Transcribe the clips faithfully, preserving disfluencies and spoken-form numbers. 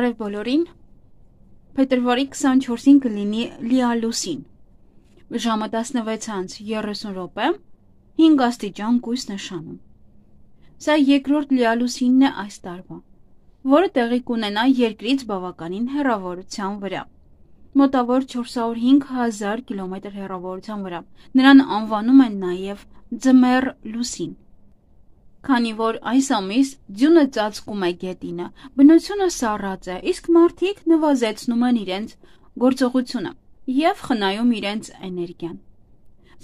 Բարև բոլորին, փետրվարի քսանչորսին կլինի լիալուսին, ժամը տասնվեց անց երեսուն րոպե, հինգ աստիճան կույս նշանում։ Սա երկրորդ լիալուսինն է այս տարվա, որը տեղի կունենա երկրից բավականին հեռավորության վրա, մոտավոր չորսսուն ու հինգ հազար կիլոմետր հեռավորության վրա, նրան անվանում են նաև ձմեռ լուսին։ Քանի որ այս ամիս ձյունը ծածկում է գետինը, բնությունը սառած է, իսկ մարդիկ նվազեցնում են իրենց գործողությունը և խնայում իրենց էներգիան։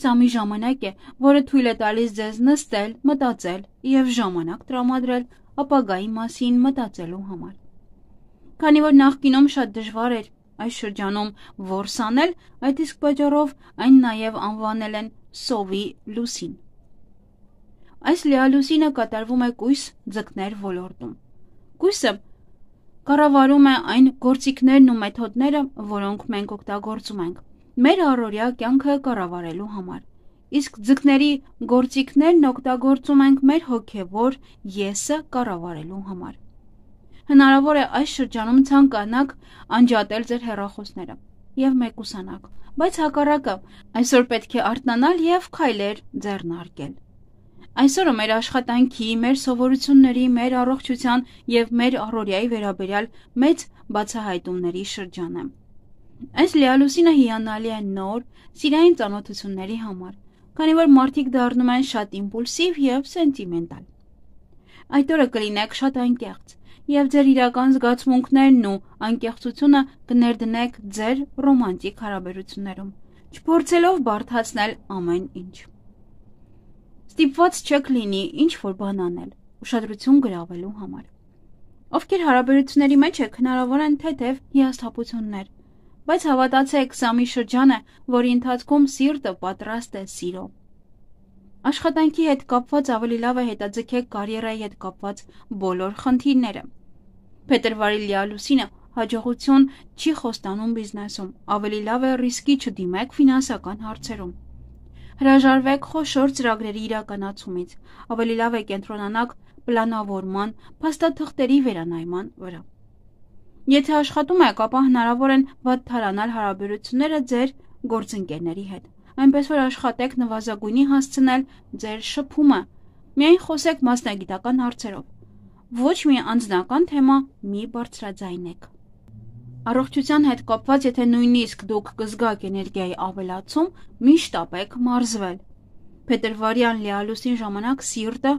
Սա մի ժամանակ է, որը թույլ է տալիս ձեզ նստել, մտածել և ժամանակ տրամադրել ապագայի մասին մտածելու համար։ Քանի որ նախկինում շատ դժվար էր այս շրջանում որս անել, այդ իսկ պատճառով այն նաև անվանել են սովի լուսին։ Այս լիալուսինը կատարվում է կույս ձկներ ոլորտում։ Կույսը կառավարում է այն գործիքներն ու մեթոդները, որոնք մենք օգտագործում ենք մեր առօրյա կյանքը կառավարելու համար, իսկ ձկների գործիքներն օգտագործում ենք մեր հոգևոր եսը կառավարելու համար։ Հնարավոր է այս շրջանում ցանկանաք անջատել ձեր հեռախոսները և մեկուսանաք, բայց հակառակը այսօր պետք է արթնանալ և քայլեր ձեռնարկել։ Այսօրը մեր աշխատանքի, մեր սովորությունների, մեր առողջության և մեր առօրյայի վերաբերյալ մեծ բացահայտումների շրջան է։ Այս լիալուսինը հիանալի է նոր, սիրային ծանոթությունների համար, քանի որ մարդիկ դառնում են շատ իմպուլսիվ և սենտիմենտալ։ Այդ օրը կլինեք շատ անկեղծ և ձեր իրական զգացմունքներն ու անկեղծությունը կներդնեք ձեր ռոմանտիկ հարաբերություններում, չփորձելով բարդացնել ամեն ինչ։ Ստիպված չեք լինի ինչ-որ բան անել, ուշադրություն գրավելու համար։ Ովքեր հարաբերությունների մեջ եք, հնարավոր են թեթև հիասթափություններ, բայց հավատացեք, սա մի շրջան է, որի ընթացքում սիրտը պատրաստ է սիրո։ Աշխատանքի հետ կապված ավելի լավ է հետաձգեք կարիերայի հետ կապված բոլոր խնդիրները։ Փետրվարի լիալուսինը հաջողություն չի խոստանում բիզնեսում, ավելի լավ է ռիսկի չդիմեք ֆինանսական հարցերում։ Հրաժարվեք խոշոր ծրագրերի իրականացումից, ավելի լավ է կենտրոնանաք պլանավորման, փաստաթղթերի վերանայման վրա։ Եթե աշխատում եք, ապա հնարավոր են վատթարանալ հարաբերությունները ձեր գործընկերների հետ, այնպես որ աշխատեք նվազագույնի հասցնել ձեր շփումը, միայն խոսեք մասնագիտական հարցերով, ոչ մի անձնական թեմա մի բարձրաձայնեք։ Առողջության հետ կապված, եթե նույնիսկ դուք կզգաք էներգիայի ավելացում, մի շտապեք մարզվել։ Փետրվարյան լիալուսին ժամանակ սիրտը,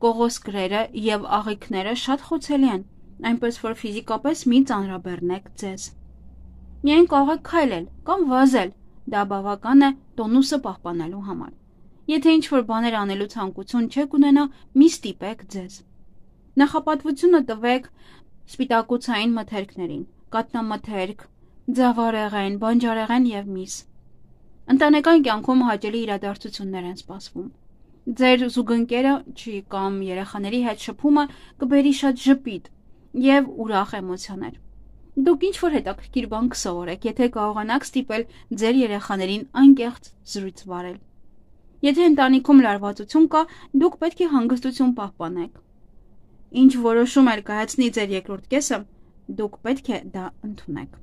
կողոսկրերը և աղիքները շատ խոցելի են, այնպես որ ֆիզիկապես մի ծանրաբեռնեք ձեզ։ Միայն կարող եք քայլել կամ վազել, դա բավական է տոնուսը պահպանելու համար։ Եթե ինչ-որ բաներ անելու ցանկություն չեք ունենա, մի ստիպեք ձեզ։ Նախապատվությունը տվեք սպիտակուցային մթերքներին, կաթնամթերք, ձավարեղեն, բանջարեղեն և միս։ Ընտանեկան կյանքում հաճելի իրադարձություններ են սպասվում։ Ձեր զուգընկերը չի կամ երեխաների հետ շփումը կբերի շատ ժպիտ և ուրախ էմոցիաներ։ Դուք ինչ-որ հետաքրքիր բան կսովորեք, եթե կարողանաք ստիպել ձեր երեխաներին անկեղծ զրույց վարել։ Եթե ընտանիքում լարվածություն կա, դուք պետք է հանգստություն պահպանեք։ Ինչ որոշում էլ կայացնի ձեր երկրորդ կեսը, դուք պետք է դա ընդունեք։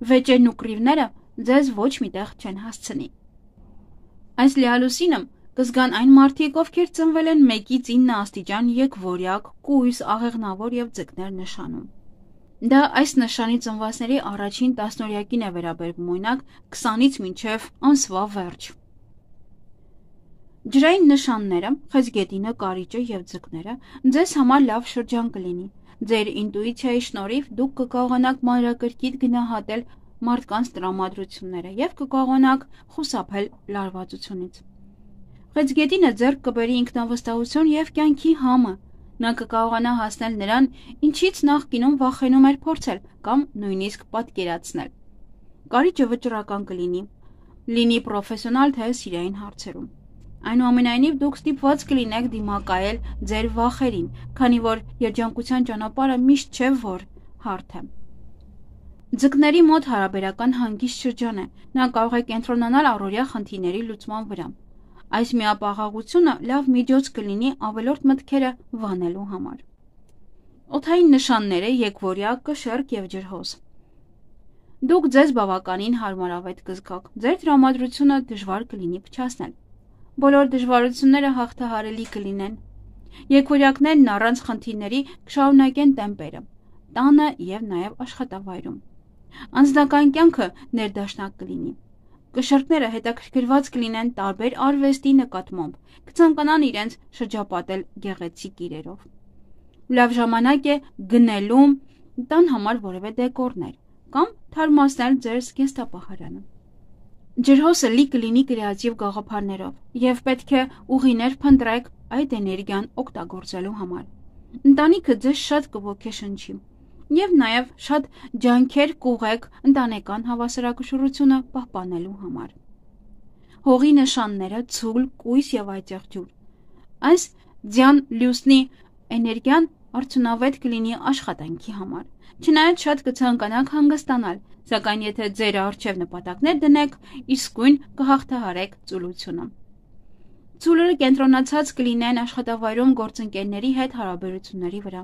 Վեճերն ու կռիվները ձեզ ոչ միտեղ չեն հասցնի։ Այս լիալուսինը կզգան այն մարդիկ, ովքեր ծնվել են մեկից ինը աստիճան եկվորյակ, կույս, աղեղնավոր և ձկներ նշանում։ Դա այս նշանի ծնվածների առաջին տասնօրյակին է վերաբերվում, օրինակ քսանից մինչև ամսվա վերջ։ Ջրային նշանները, խեցգետինը, կարիճը և ձկները ձեզ համար լավ շրջան կլինի։ Ձեր ինտուիցիայի շնորհիվ դուք կկարողանաք մանրակրկիտ գնահատել մարդկանց տրամադրությունները և կկարողանաք խուսափել լարվածությունից։ Խեցգետինը ձեռք կբերի ինքնավստահություն և կյանքի համը։ Նա կկարողանա հասնել նրան, ինչից նախկինում վախենում էր փորձել կամ նույնիսկ պատկերացնել։ Կարիճը վճռական կլինի, լինի պրոֆեսիոնալ թե սիրային հարցերում։ Այնուամենայնիվ դուք ստիպված կլինեք դիմակայել ձեր վախերին, քանի որ երջանկության ճանապարհը միշտ չէ, որ հարթ է։ Ձկների մոտ հարաբերական հանգիստ շրջան է, նա կարող է կենտրոնանալ առօրյա խնդիրների լուծման վրա։ Այս միապաղաղությունը լավ միջոց կլինի ավելորդ մտքերը վանելու համար։ Օդային նշանները եկվորյա, կշեռք եւ ջրհոս։ Դուք ձեզ բավականին հարմարավետ կզգաք, ձեր տրամադրությունը դժվար կլինի փչացնել։ Բոլոր դժվարությունները հաղթահարելի կլինեն։ Եկվորյակներն առանց խնդիրների կշարունակեն տեմպերը, տանը եւ նաեւ աշխատավայրում։ Անձնական կյանքը ներդաշնակ կլինի։ Կշեռքները հետաքրքրված կլինեն տարբեր արվեստի նկատմամբ, կցանկանան իրենց շրջապատել գեղեցիկ իրերով։ Լավ ժամանակ է գնելու տան համար որևէ դեկորներ կամ թարմացնել ձեր զգեստապահարանը։ Ջրհոսը լի կլինի կրեատիվ գաղափարներով եւ պետք է ուղիներ փնտրեք այդ էներգիան օգտագործելու համար։ Ընտանիքը ձեզ շատ կոգեշնչի եւ նաեւ շատ ջանքեր կուղեք ընտանեկան հավասարակշռությունը պահպանելու համար։ Հողի նշանները ցուլ, կույս եւ այծեղ ջուր։ Այս ձյան լուսնի էներգիան արդյունավետ կլինի աշխատանքի համար։ Չնայած շատ կցանկանաք հանգստանալ, սակայն եթե ձեր առջև նպատակներ դնեք, իսկույն կհաղթահարեք ծուլությունը։ Ծուլերը կենտրոնացած կլինեն աշխատավայրում գործընկերների հետ հարաբերությունների վրա։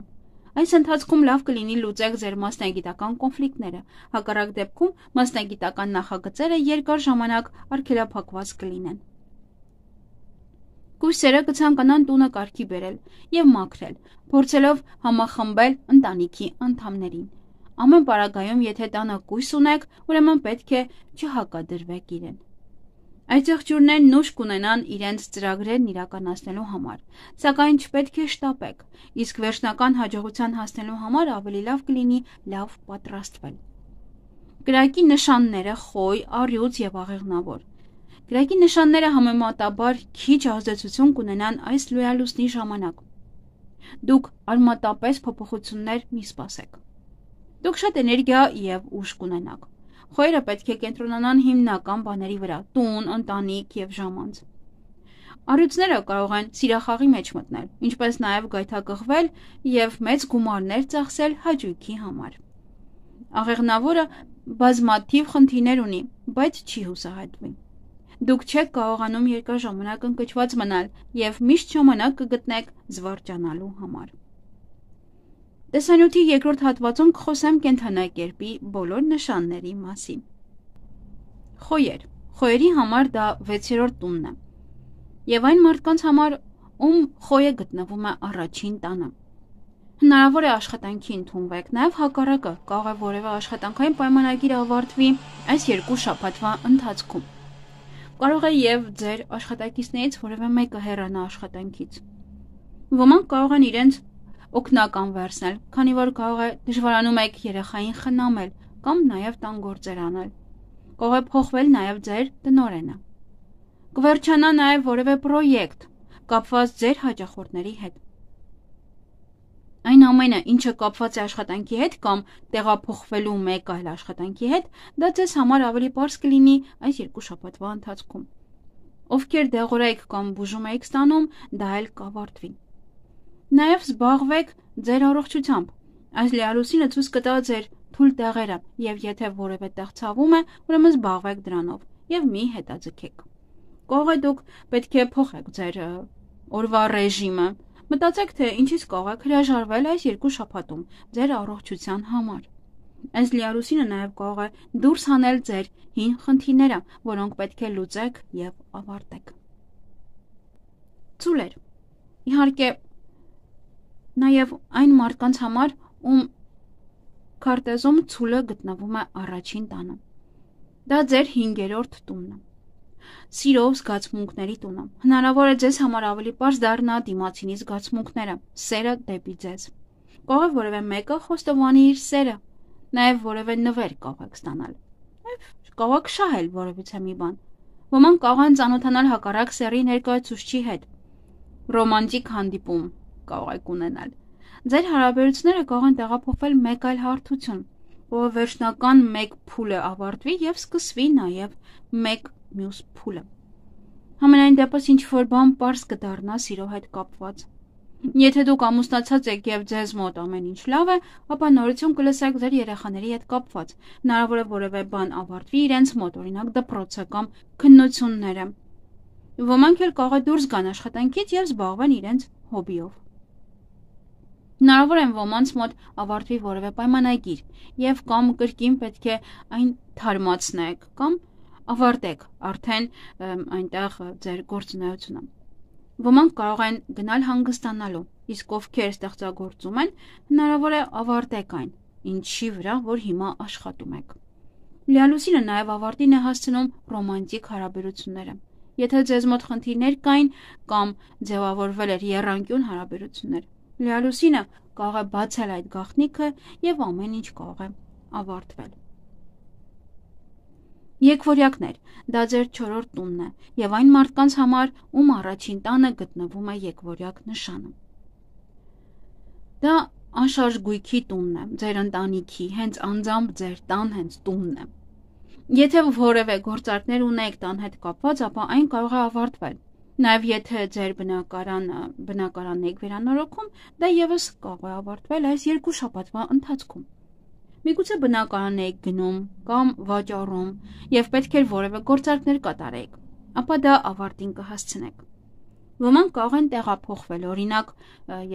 Այս ընթացքում լավ կլինի լուծեք ձեր մասնագիտական կոնֆլիկտները, հակառակ դեպքում մասնագիտական նախագծերը երկար ժամանակ արգելափակված կլինեն։ Կույսերը կցանկանան տունը կարգի բերել եւ մաքրել, փորձելով համախմբել ընտանիքի անդամներին։ Ամեն պարագայում, եթե տանը կույս ունեք, ուրեմն պետք է չհակադրվեք իրեն։ Այծեղ ջուրներն ուժ կունենան իրենց ծրագրերն իրականացնելու համար, սակայն չպետք է շտապեք, իսկ վերջնական հաջողության հասնելու համար ավելի լավ կլինի լավ պատրաստվել։ Կրակի նշանները խոյ, առյուծ եւ աղեղնավոր։ Կրակի նշանները համեմատաբար քիչ ազդեցություն կունենան այս լույալուսնի ժամանակ։ Դուք արմատապես փոփոխություններ մի սպասեք։ Դուք շատ էներգիա եւ ուժ կունենաք։ Խոյերը պետք է կենտրոնանան հիմնական բաների վրա՝ տուն, ընտանիք եւ ժամանց։ Առյուծները կարող են սիրախաղի մեջ մտնել, ինչպես նաեւ գայթակղվել եւ մեծ գումարներ ծախսել հաճույքի համար։ Աղեղնավորը բազմաթիվ խնդիրներ ունի, բայց չի հուսահատվի։ Դուք չեք կարողանում երկար ժամանակ ընկճված մնալ եւ միշտ ժամանակ կգտնեք զվարճանալու համար։ Տեսանյութի երկրորդ հատվածում կխոսեմ կենդանակերպի բոլոր նշանների մասին։ Խոյեր։ Խոյերի համար դա վեցերորդ տունն է եւ այն մարդկանց համար, ում խոյը գտնվում է առաջին տանը։ Հնարավոր է աշխատանքի ընդունվեք, նաեւ հակառակը կարող է որևէ աշխատանքային պայմանագիր ավարտվի այս երկու շաբաթվա ընթացքում։ Կարող է եւ ձեր աշխատակիցներից որևէ մեկը հեռանա աշխատանքից։ Ոմանք կարող են իրենց օգնական վերցնել, քանի որ կարող է դժվարանում եք երեխային խնամել կամ նաեւ տան գործեր անել։ Կարող է փոխվել նաեւ ձեր տնօրենը։ Կվերջանա նաեւ որևէ պրոյեկտ կապված ձեր հաճախորդների հետ։ Այն ամենը, ինչը կապված է աշխատանքի հետ կամ տեղափոխվելու մեկ այլ աշխատանքի հետ, դա ձեզ համար ավելի պարզ կլինի այս երկու շաբաթվա ընթացքում։ Ովքեր դեղորայք կամ բուժում եք ստանում, դա էլ կավարտվի։ Նաև զբաղվեք ձեր առողջությամբ։ Այս լիալուսինը ցույց կտա ձեր թույլ տեղերը, եւ եթե որևէ տեղ ցավում է, ուրեմն զբաղվեք դրանով եւ մի հետաձգեք։ Կարող է դուք պետք է փոխեք ձեր օրվա ռեժիմը։ Մտածեք, թե ինչից կարող եք հրաժարվել այս երկու շաբաթում ձեր առողջության համար։ Այս լիալուսինը նաև կարող է դուրս հանել ձեր հին խնդիրները, որոնք պետք է լուծեք եւ ավարտեք։ Ծուլեր։ Իհարկե, նաև այն մարդկանց համար, ում քարտեզում ցուլը գտնվում է առաջին տանը։ Դա ձեր հինգերորդ տունն է։ Սիրով զգացմունքների տունը։ Հնարավոր է ձեզ համար ավելի պարզ դառնա դիմացինի զգացմունքները, սերը դեպի ձեզ։ Կարող է որևէ մեկը խոստովանի իր սերը, նաև որևէ նվեր կարող եք ստանալ։ Կարող եք շահել որևիցե մի բան։ Ոմանք կարող են ծանոթանալ հակառակ սեռի ներկայացուցչի հետ։ Ռոմանտիկ հանդիպում կարող եք ունենալ։ Ձեր հարաբերությունները կարող են տեղափոխվել մեկ այլ հարթություն, որը վերջնական մեկ փուլը ավարտվի եւ սկսվի նաեւ մեկ մյուս փուլը։ Համենայն դեպս ինչ որ բան պարզ կդառնա սիրո հետ կապված։ Եթե դուք ամուսնացած եք եւ ձեզ մոտ ամեն ինչ լավ է, ապա նորություն կլսեք ձեր երեխաների հետ կապված։ Հնարավոր է որևէ բան ավարտվի իրենց մոտ, օրինակ դպրոցը կամ քննությունները։ Ոմանք էլ կարող է դուրս գան աշխատանքից եւ զբաղվեն իրենց հոբիով։ Հնարավոր է ոմանց մոտ ավարտվի որևէ պայմանագիր եւ կամ կրկին պետք է այն թարմացնեք կամ ավարտեք արդեն այնտեղ ձեր գործունեությունը։ Ոմանք կարող են գնալ հանգստանալու, իսկ ովքեր ստեղծագործում են, հնարավոր է ավարտեք այն, ինչի վրա, որ հիմա աշխատում եք։ Լիալուսինը նաև ավարտին է հասցնում ռոմանտիկ հարաբերությունները։ Եթե ձեզ մոտ խնդիրներ կային կամ ձևավորվել էր եռանկյուն հարաբերություններ, լիալուսինը կարող է բացել այդ գաղտնիքը եւ ամեն ինչ կարող է ավարտվել։ Եկվորյակներ, դա ձեր չորրորդ տունն է եւ այն մարդկանց համար, ում առաջին տանը գտնվում է եկվորյակ նշանը։ Դա անշարժ գույքի տունն է, ձեր ընտանիքի, հենց անձամբ ձեր տան հենց տունն է։ Եթե որևէ գործարքներ ունեք տան հետ կապված, ապա այն կարող է ավարտվել։ Նաև եթե ձեր բնակարանը բնակարանն եք վերանորոգում, դա եւս կարող է ավարտվել այս երկու շաբաթվա ընթացքում։ Միգուցե բնակարան եք գնում կամ վաճառում եւ պետք է որևէ գործարքներ կատարեք, ապա դա ավարտին կհասցնեք։ Ոմանք կարող են տեղափոխվել, օրինակ,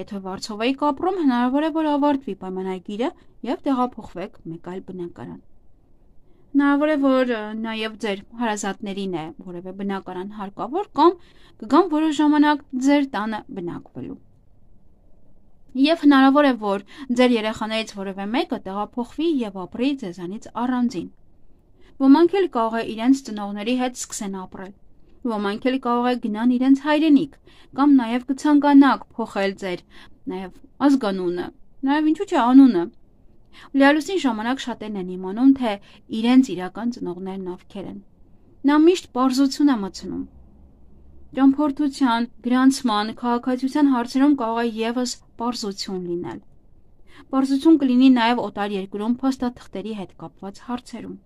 եթե Վարշավայում եք ապրում, հնարավոր է որ ավարտվի պայմանագիրը եւ տեղափոխվեք մեկ այլ բնակարան։ Հնարավոր է որ նաեւ ձեր հարազատներին է որևէ բնակարան հարկավոր կամ կգան որոշ ժամանակ ձեր տանը բնակվելու։ Եվ հնարավոր է որ ձեր երեխաներից որևէ մեկը տեղափոխվի եւ ապրի ձեզանից առանձին։ Ոմանք էլ կարող է իրենց ծնողների հետ սկսեն ապրել։ Ոմանք էլ կարող է գնան իրենց հայրենիք կամ նաեւ կցանկանաք փոխել ձեր նաեւ ազգանունը, նաեւ ինչու՞ չէ անունը։ Լիալուսին ժամանակ շատերն են իմանում, թե իրենց իրական ծնողներն ովքեր են։ Նա միշտ պարզություն է մտցնում։ Ճամփորդության, գրանցման, քաղաքացիության հարցերում կարող է եւս պարզություն լինել։ Պարզություն կլինի նաեւ օտար երկրում փաստաթղթերի հետ կապված հարցերում։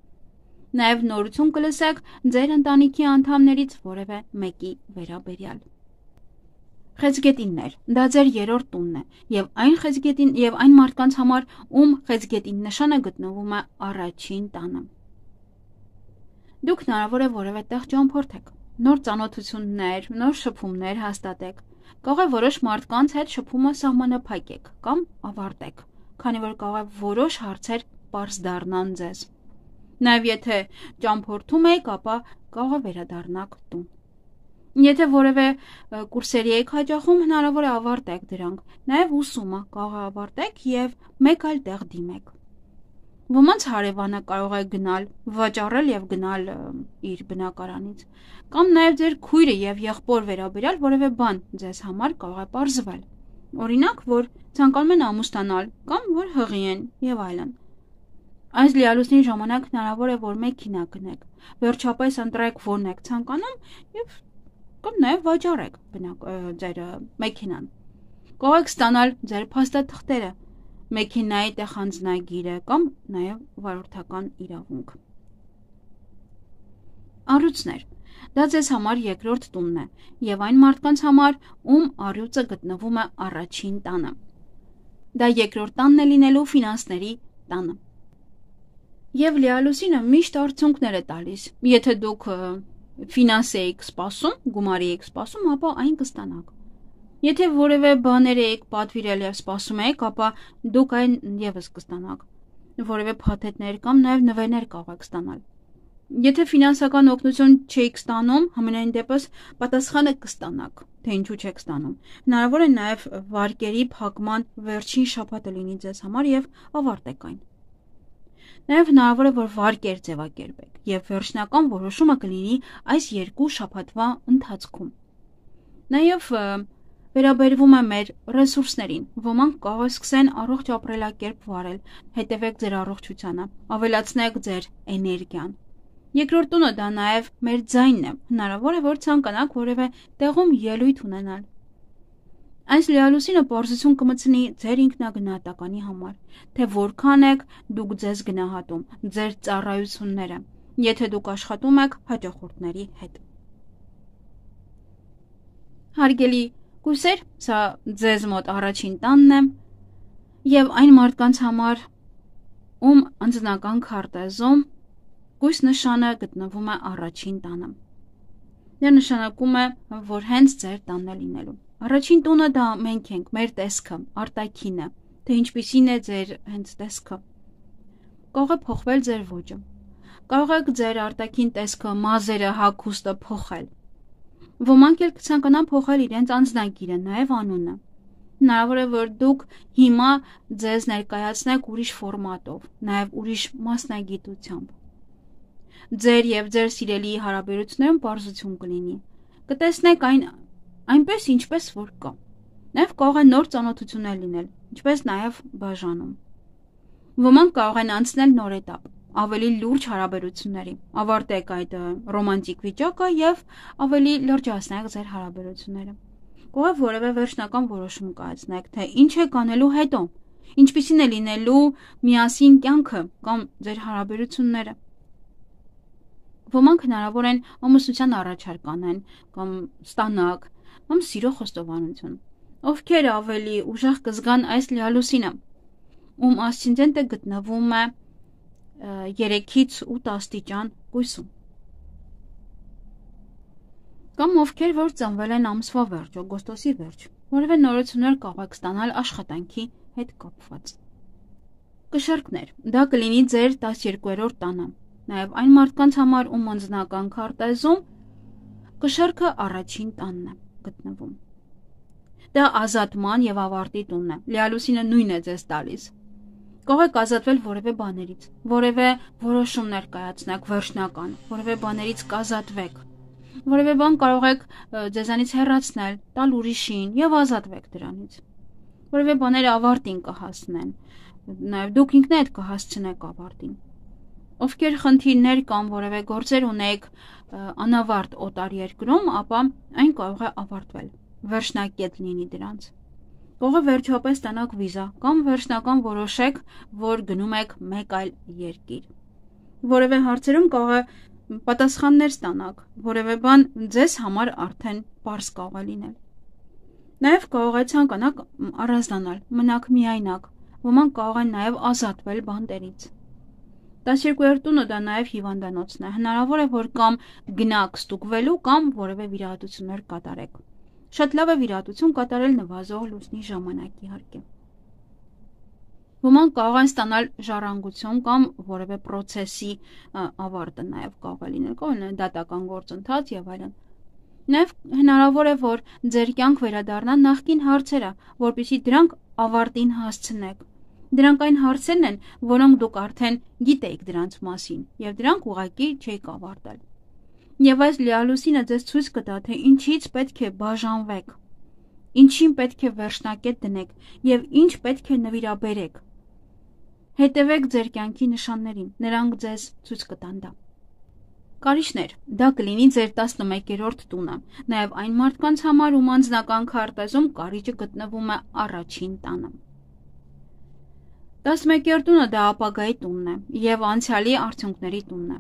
Նաեւ նորություն կլսեք ձեր ընտանիքի անդամներից որևէ մեկի վերաբերյալ։ Խեցգետիններ, դա ձեր երրորդ տունն է, եւ այն խեցգետին եւ այն մարդկանց համար, ում խեցգետին նշանը գտնվում է առաջին տանը։ Դուք հնարավոր է որևէ տեղ ճամփորդեք, նոր ծանոթություններ, նոր շփումներ հաստատեք։ Կարող է որոշ մարդկանց հետ շփումը սահմանափակեք կամ ավարտեք, քանի որ կարող է որոշ հարցեր պարզ դառնան ձեզ։ Նաեւ եթե ճամփորդում եք, ապա կարող է վերադառնաք տուն։ Եթե որևէ կուրսերի եք հաճախում, հնարավոր է ավարտեք դրանք, նաև ուսումը կարող է ավարտեք եւ մեկ այլ տեղ դիմեք։ Ոմանց հարևանը կարող է գնալ, վաճառել եւ գնալ իր բնակարանից, կամ նաև ձեր քույրը եւ եղբոր վերաբերյալ որևէ բան ձեզ համար կարող է պարզվել։ Օրինակ, որ ցանկանում են ամուսնանալ կամ որ հղի են եւ այլն։ Այս լիալուսնի ժամանակ հնարավոր է որ մեքենա գնեք, վերջապես ընտրեք որն եք ցանկանում եւ կամ նաև վաճառեք բնակ ձեր մեքենան։ Կարող եք ստանալ ձեր փաստաթղթերը, մեքենայի տեղանձնագիրը կամ նաև վարորդական իրավունք։ Առյուծներ, դա ձեզ համար երկրորդ տունն է եւ այն մարդկանց համար, ում առյուծը գտնվում է առաջին տանը։ Դա երկրորդ տանն է լինելու ֆինանսների տանը։ Եվ լիալուսինը միշտ արդյունքներ է տալիս։ Եթե դուք ֆինանս եք սպասում, գումարի եք սպասում, ապա այն կստանաք։ Եթե որևէ բաներ եք պատվիրել եւ սպասում եք, ապա դուք այն եւս կստանաք։ Որևէ փաթեթներ կամ նաեւ նվերներ կարող եք ստանալ։ Եթե ֆինանսական օգնություն չեք ստանում, համենայն դեպս պատասխանը կստանաք, թե ինչու չեք ստանում։ Հնարավոր է նաեւ վարկերի փակման վերջին շաբաթը լինի ձեզ համար եւ ավարտեք այն։ Նաև հնարավոր է որ վարկեր ձևակերպեք եւ վերջնական որոշումը կլինի այս երկու շաբաթվա ընթացքում։ Նաև վերաբերվում է մեր ռեսուրսներին։ Ոմանք կարող է սկսեն առողջ ապրելակերպ վարել, հետևեք ձեր առողջությանը, ավելացնեք ձեր էներգիան։ Երկրորդ տունը դա նաև մեր ձայնն է։ Հնարավոր է որ ցանկանաք որևէ տեղում ելույթ ունենալ։ Այս լիալուսինը պարզություն կմտցնի ձեր ինքնագնահատականի համար, թե որքան եք դուք ձեզ գնահատում, ձեր ծառայությունները, եթե դուք աշխատում եք հաճախորդների հետ։ Հարգելի կուրսեր, սա ձեզ մոտ առաջին տանն է եւ այն մարդկանց համար, ում անձնական քարտեզում կույս նշանը գտնվում է առաջին տանը։ Դա նշանակում է, որ հենց ձեր տանն է լինելու։ Առաջին տունը դա մենք ենք, մեր տեսքը, արտաքինը, թե ինչպիսին է ձեր հենց տեսքը։ Կարող է փոխվել ձեր ոճը։ Կարող եք ձեր արտաքին տեսքը, մազերը, հագուստը փոխել։ Ոմանք էլ կցանկանան փոխել իրենց անձնագիրը, նաև անունը։ Հնարավոր է, որ դուք հիմա ձեզ ներկայացնեք ուրիշ ֆորմատով, նաև ուրիշ մասնագիտությամբ։ Ձեր եւ ձեր սիրելի հարաբերություններում պարզություն կլինի։ Կտեսնեք այն այնպես, ինչպես որ կա։ Նաև կարող է նոր ծանոթություններ լինել, ինչպես նաև բաժանում։ Ոմանք կարող են անցնել նոր этап, ավելի լուրջ հարաբերությունների, ավարտեք այդ ռոմանտիկ վիճակը եւ ավելի լրջացնեք ձեր հարաբերությունները։ Կարող է որևէ վերջնական որոշում կայացնեք, թե ինչ եք անելու հետո, ինչպիսին է լինելու միասին կյանքը կամ ձեր հարաբերությունները։ Ոմանք հնարավոր են ամուսնության առաջարկ անեն կամ ստանաք, կամ սիրո խոստովանություն։ Ովքեր ավելի ուժեղ կզգան այս լիալուսինը, ում ասցենդենտը գտնվում է երեքից ութ աստիճան կույսում։ Կամ ովքեր որ ծնվել են ամսվա վերջ, օգոստոսի վերջ, որևէ նորություններ կարող եք ստանալ աշխատանքի հետ կապված։ Կշեռքներ, դա կլինի ձեր տասներկուերորդ տանը, նաև այն մարդկանց համար, ում անձնական քարտեզում կշեռքը առաջին տանն է գտնվում։ Դա ազատման եւ ավարտի տունն է, լիալուսինը նույնն է ձեզ տալիս։ Կարող եք ազատվել որևէ բաներից, որևէ որոշում ներկայացնեք վերջնական, որևէ բաներից կազատվեք, որևէ բան կարող եք ձեզանից հեռացնել, տալ ուրիշին եւ ազատվեք դրանից։ Որևէ բաները ավարտին կհասնեն, նաեւ դուք ինքներդ կհասցնեք ավարտին։ Ովքեր խնդիրներ կամ որևէ գործեր ունեք անավարտ օտար երկրում, ապա այն կարող է ավարտվել, վերջնակետ լինի դրանց։ Կարող է վերջապես ստանաք վիզա կամ վերջնական որոշեք, որ գնում եք մեկ այլ երկիր։ Որևէ հարցերում կարող է պատասխաններ ստանաք, որևէ բան ձեզ համար արդեն պարզ կարող է լինել։ Նաև կարող է ցանկանաք առանձնանալ, մնաք միայնակ, ոմանք կարող են նաև ազատվել բանտերից։ տասներկուերորդ տունը դա նաև հիվանդանոցն է, հնարավոր է, որ կամ գնաք ստուգվելու կամ որևէ վիրահատություններ կատարեք։ Շատ լավ է վիրահատություն կատարել նվազող լուսնի ժամանակ իհարկե։ Ոմանք կարող են ստանալ ժառանգություն կամ որևէ process-ի ավարտը նաև կարող է լինել, կարող է դատական գործընթաց եւ այլն։ Նաև հնարավոր է, որ ձեր կյանք վերադառնա նախկին հարցերը, որպեսզի դրանք ավարտին հասցնեք։ Դրանք այն հարցերն են, որոնք դուք արդեն գիտեիք դրանց մասին եւ դրանք ուղղակի չեք ավարտել։ Եվ այս լիալուսինը ձեզ ցույց կտա, թե ինչից պետք է բաժանվեք, ինչին պետք է վերջնակետ դնեք եւ ինչ պետք է նվիրաբերեք։ Հետևեք ձեր կյանքի նշաններին, նրանք ձեզ ցույց կտան դա։ Կարիճներ, դա կլինի ձեր տասնմեկերորդ տունը, նաեւ այն մարդկանց համար, ում անձնական քարտեզում կարիճը գտնվում է առաջին տանը։ տասնմեկերորդ տունը դա ապագայի տունն է եւ անցյալի արդյունքների տունն է։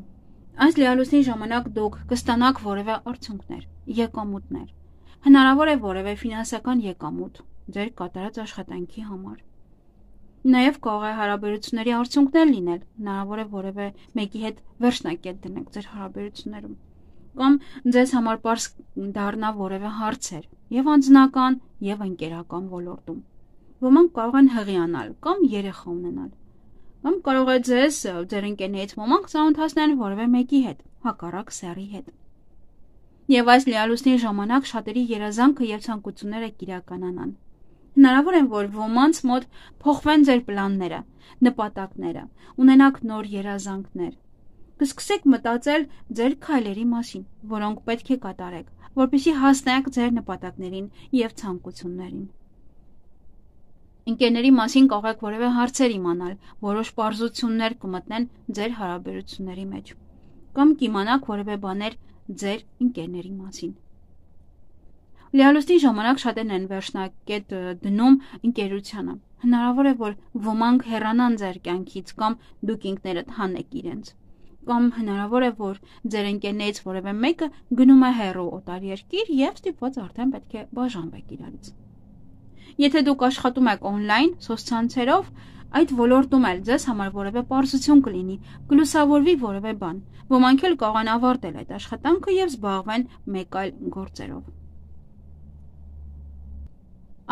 Այս լիալուսնի ժամանակ դուք կստանաք որևէ արդյունքներ, եկամուտներ։ Հնարավոր է որևէ ֆինանսական եկամուտ ձեր կատարած աշխատանքի համար։ Նաև կարող է հարաբերությունների արդյունքներ լինել, հնարավոր է որևէ մեկի հետ վերջնակետ դնեք ձեր հարաբերություններում, կամ ձեզ համար պարզ դառնա որևէ հարցեր, եւ անձնական, եւ ընկերական ոլորտում։ Ոմանք կարող են հղիանալ կամ երեխա ունենալ, կամ կարող է ձեզ ձեր ընկերներից ոմանք ծանոթացնեն որևէ մեկի հետ, հակառակ սեռի հետ։ Եվ այս լիալուսնի ժամանակ շատերի երազանքը եւ ցանկությունները կիրականանան։ Հնարավոր է, որ ոմանց մոտ փոխվեն ձեր պլանները, նպատակները, ունենաք նոր երազանքներ։ Կսկսեք մտածել ձեր քայլերի մասին, որոնք պետք է կատարեք, որպեսզի հասնեք ձեր նպատակներին եւ ցանկություններին։ Ընկերների մասին կարող եք որևէ հարցեր իմանալ, որոշ պարզություններ կմտնեն ձեր հարաբերությունների մեջ, կամ կիմանաք որևէ բաներ ձեր ընկերների մասին։ Լիալուսնի ժամանակ շատերն են վերջնակետ դնում ընկերությանը։ Հնարավոր է, որ ոմանք հեռանան ձեր կյանքից կամ դուք ինքներդ հանեք իրենց։ Կամ հնարավոր է, որ ձեր ընկերներից որևէ մեկը գնում է հեռու օտար երկիր եւ ստիպված արդեն պետք է բաժանվեք իրարից։ Եթե դուք աշխատում եք օնլայն, սոցցանցերով, այդ ոլորտում էլ ձեզ համար որևէ պարզություն կլինի, կլուսավորվի որևէ բան։ Ոմանք էլ կարող են ավարտել այդ աշխատանքը եւ զբաղվեն մեկ այլ գործերով։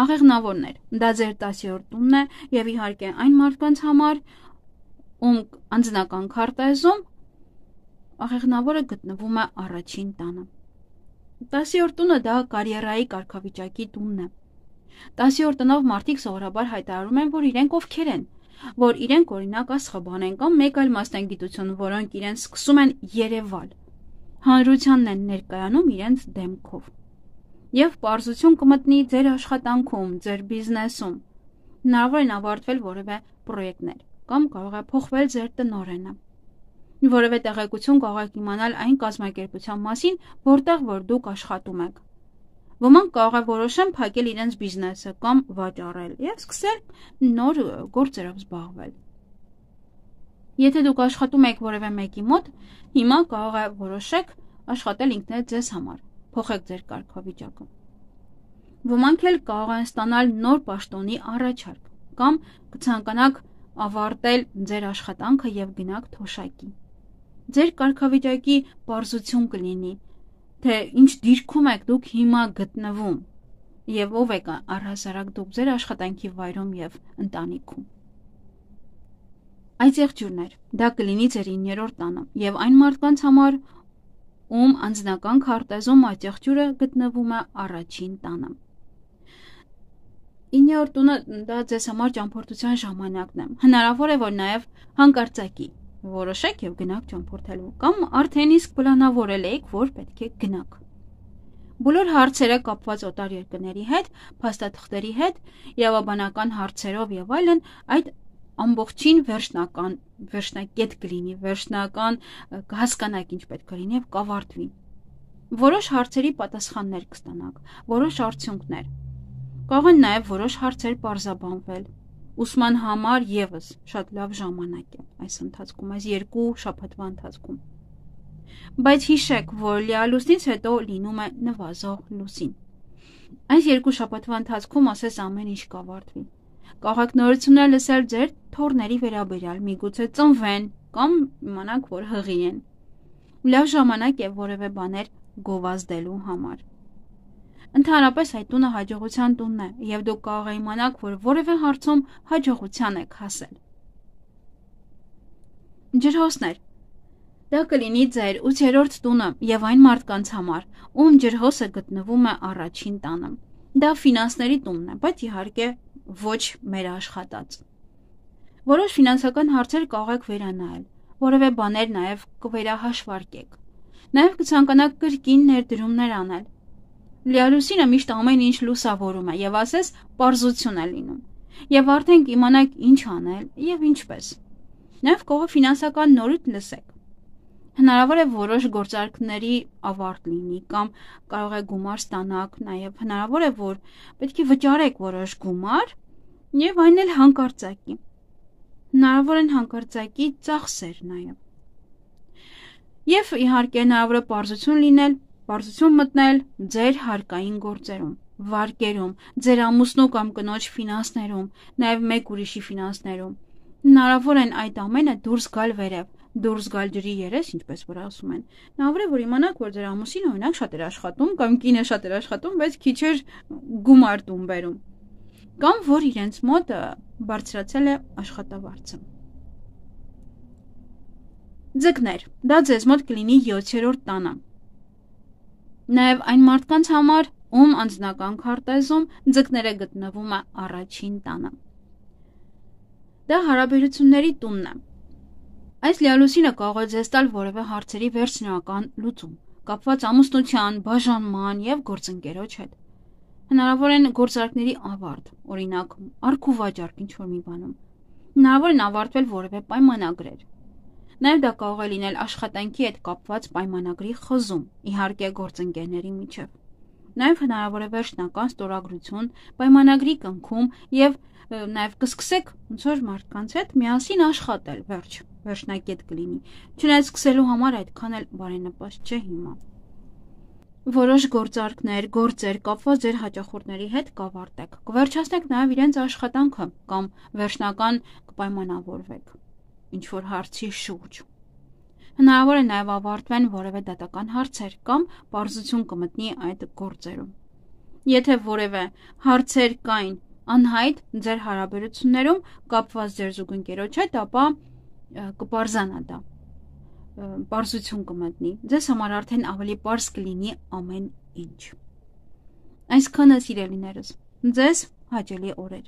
աղեղնավորներ, դա ձեր տասյորդ տունն է եւ իհարկե այն մարդկանց համար, ում անձնական քարտեզում աղեղնավորը գտնվում է առաջին տանը։ տասյորդ տունը դա կարիերայի կարգավիճակի տունն է։ տասյորդ տնով մարդիկ սովորաբար հայտարարում են, որ իրենք ովքեր են, որ իրենք օրինակ աստղաբան են կամ մեկ այլ մասնագիտություն, որոնք իրենց սկսում են երևալ, հանրությանն են ներկայանում իրենց դեմքով։ Եվ պարզություն կմտնի ձեր աշխատանքում, ձեր բիզնեսում, հնարավոր են ավարտվել որևէ պրոյեկտներ կամ կարող է փոխվել ձեր տնօրենը, որևէ տեղեկություն կարող եք իմանալ այն կազմակերպության մասին, որտեղ որ դուք աշխատում եք։ Ոմանք կարող է որոշեն փակել իրենց բիզնեսը կամ վաճառել եւ սկսել նոր գործերով զբաղվել։ Եթե դուք աշխատում եք որևէ մեկի մոտ, հիմա կարող է որոշեք աշխատել ինքներդ ձեզ համար, փոխեք ձեր կարգավիճակը։ Ոմանք էլ կարող են ստանալ նոր պաշտոնի առաջարկ կամ կցանկանաք ավարտել ձեր աշխատանքը եւ գնաք թոշակի։ Ձեր կարգավիճակի պարզություն կլինի, թե ինչ դիրքում եք դուք հիմա գտնվում եւ ով եք առհասարակ դուք ձեր աշխատանքի վայրում եւ ընտանիքում։ Այդ եղջյուրներ, դա կլինի ձեր իններորդ տանը եւ այն մարդկանց համար, ում անձնական քարտեզում այդ եղջյուրը գտնվում է առաջին տանը։ իններորդ տունը դա ձեզ համար ճամփորդության ժամանակն է։ Հնարավոր է, որ նաեւ հանկարծակի որոշեք եւ գնաք ճամփորդելու կամ արդեն իսկ պլանավորել եք, որ պետք է գնաք։ Բոլոր հարցերը կապված օտար երկրների հետ, փաստաթղթերի հետ, իրավաբանական հարցերով եւ այլն, այդ ամբողջին վերջնական, վերջնակետ կլինի, վերջնական կհասկանաք ինչ պետք է լինի եւ կավարտվի։ Որոշ հարցերի պատասխաններ կստանաք, որոշ արդյունքներ։ Կարող են նաեւ որոշ հարցեր պարզաբանվել։ Ուսման համար եւս շատ լավ ժամանակ է այս ընթացքում, այս երկու շաբաթվա ընթացքում։ Բայց հիշեք, որ լիալուսնից հետո լինում է նվազող լուսին։ Այս երկու շաբաթվա ընթացքում ասես ամեն ինչ կավարտվի։ Կարող եք նորություններ լսել ձեր թոռների վերաբերյալ, միգուցե ծնվեն կամ իմանաք, որ հղի են։ Լավ ժամանակ է որևէ բաներ գովազդելու համար։ Ընդհանրապես այդ տունը հաջողության տունն է եւ դուք կարող եք իմանաք, որ որևէ հարցում հաջողության եք հասել։ Ջրհոսներ, դա կլինի ձեր ութերորդ տունը եւ այն մարդկանց համար, ում ջրհոսը գտնվում է առաջին տանը։ Դա ֆինանսների տունն է, բայց իհարկե ոչ մեր աշխատած։ Որոշ ֆինանսական հարցեր կարող եք վերանայել, որևէ բաներ նաեւ կվերահաշվարկեք։ Նաեւ կցանկանաք կրկին ներդրումներ անել։ Լիալուսինը միշտ ամեն ինչ լուսավորում է եւ ասես պարզություն է լինում։ Եվ արդեն կիմանաք ինչ անել եւ ինչպես։ Նաեւ կարող է ֆինանսական նորույթ լսեք։ Հնարավոր է որոշ գործարքների ավարտ լինի կամ կարող է գումար ստանաք, նաեւ հնարավոր է, որ պետք է վճարեք որոշ գումար եւ այն էլ հանկարծակի։ Հնարավոր են հանկարծակի ծախսեր նաեւ։ Եվ իհարկե հնարավոր է պարզություն լինել, պարզություն մտնել ձեր հարկային գործերում, վարկերում, ձեր ամուսնու կամ կնոջ ֆինանսներում, նաեւ մեկ ուրիշի ֆինանսներում։ Հնարավոր են այդ ամենը դուրս գալ վերև, դուրս գալ ջրի երես, ինչպես որ ասում են։ Հնարավոր է, որ իմանաք, որ ձեր ամուսինը օրինակ շատ էր աշխատում կամ կինը շատ էր աշխատում, բայց քիչ էր գումար տուն բերում, կամ որ իրենց մոտ բարձրացել է աշխատավարձը։ Ձկներ, դա ձեզ մոտ կլինի յոթերորդ տանը։ Նաև այն մարդկանց համար, ում անձնական քարտեզում ձկները գտնվում է առաջին տանը։ Դա հարաբերությունների տունն է։ Այս լիալուսինը կարող է ձեզ տալ որևէ հարցերի վերջնական լուծում, կապված ամուսնության, բաժանման եւ գործընկերոջ հետ։ Հնարավոր են գործարքների ավարտ, օրինակ, արքուվաճառք ինչ-որ մի բանում։ Հնարավոր են ավարտվել որևէ պայմանագրեր։ Նաև դա կարող է լինել աշխատանքի հետ կապված պայմանագրի խզում, իհարկե գործընկերների միջև։ Նաև հնարավոր է վերջնական ստորագրություն, պայմանագրի կնքում եւ նաև կսկսեք ոնց որ մարդկանց հետ միասին աշխատել, վերջ, վերջնակետ կլինի։ Չնայած սկսելու համար այդքան էլ բարենպաստ չէ հիմա։ Որոշ գործարքներ, գործեր կապված ձեր հաճախորդների հետ կավարտեք։ Կվերջացնեք նաև իրենց աշխատանքը կամ վերջնական կպայմանավորվեք ինչ-որ հարցի շուրջ։ Հնարավոր է նաև ավարտվեն որևէ դատական հարցեր կամ պարզություն կմտնի այդ գործերում։ Եթե որևէ հարցեր կային անհայտ ձեր հարաբերություններում կապված ձեր զուգընկերոջ հետ, ապա կպարզանա դա, պարզություն կմտնի, ձեզ համար արդեն ավելի պարզ կլինի ամեն ինչ։ Այսքանը սիրելիներս, ձեզ հաճելի օրեր։